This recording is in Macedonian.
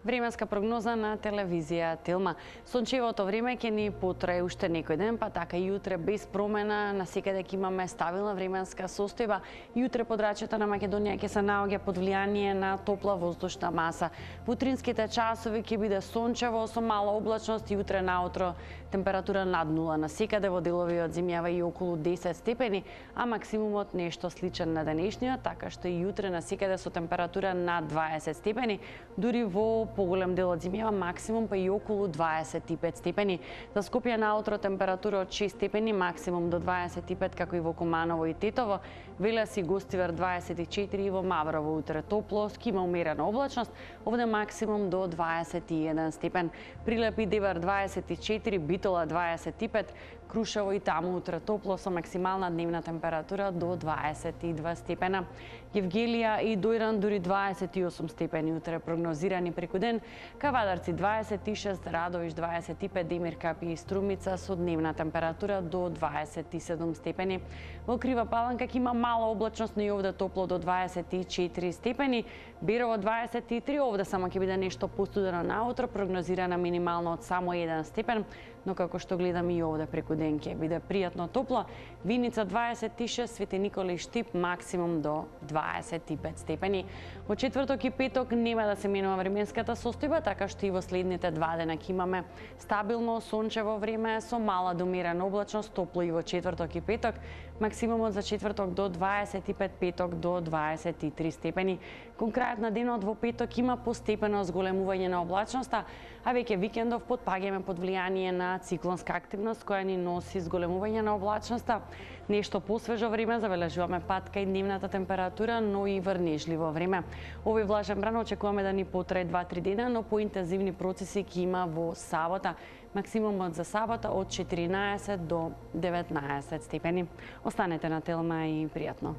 Временска прогноза на телевизија Телма. Сончевото време ќе ни потрае уште некој ден, па така и утре без промена, насекаде ќе имаме стабилна временска состојба. Утре подрачјето на Македонија ќе се наоѓа под влијание на топла воздушна маса. Во утринските часови ќе биде сончево со мала облачност и утре наутро температура над нула. Насекаде во делови од земјава и околу 10 степени, а максимумот нешто сличен на денешниот, така што и утре насекаде со температура над 20 степени, дури во поголем дел од земјава максимум па и околу 25 степени. За Скопје наутро температура од 6 степени, максимум до 25 како и во Куманово и Тетово, Велес и Гостивар 24 и во Маврово утре топло, има умерена облачност, овде максимум до 21 степен. Прилеп и Девар 24, Битола 25, Крушево и таму утре топло со максимална дневна температура до 22 степена. Евгелија и Дојран дури 28 степени утре прогнозирани преку ден, Кавадарци 26, Радовиш 25, Демир Капи и Струмица со дневна температура до 27 степени. Во Крива Паланка ќе има мала облачност, но и овде топло до 24 степени. Берово 23, овде само ќе биде нешто постудено наутро, прогнозирана минимално од само 1 степен, но како што гледам и овде преку ден ќе биде пријатно топло. Виница 26, Свети Никола и Штип максимум до 25 степени. Во четврток и петок нема да се менува временската состојба, така што и во следните два дена ќе имаме стабилно сончево време со мала до умерена облачност, топло и во четврток и петок, максимумот за четврток до 25, петок до 23 степени. Кон крајот на денот во петок има постепено зголемување на облачноста, а веќе викендов потпаѓаме под влијание на циклонска активност која ни носи зголемување на облачноста. Нешто посвежо време, забележуваме пат кај дневната температура, но и врнежливо време. Овој влажен бран очекуваме да ни потрае 2-3 дена, но поинтензивни процеси ќе има во сабота. Максимумот за сабота од 14 до 19 степени. Останете на Телма и пријатно.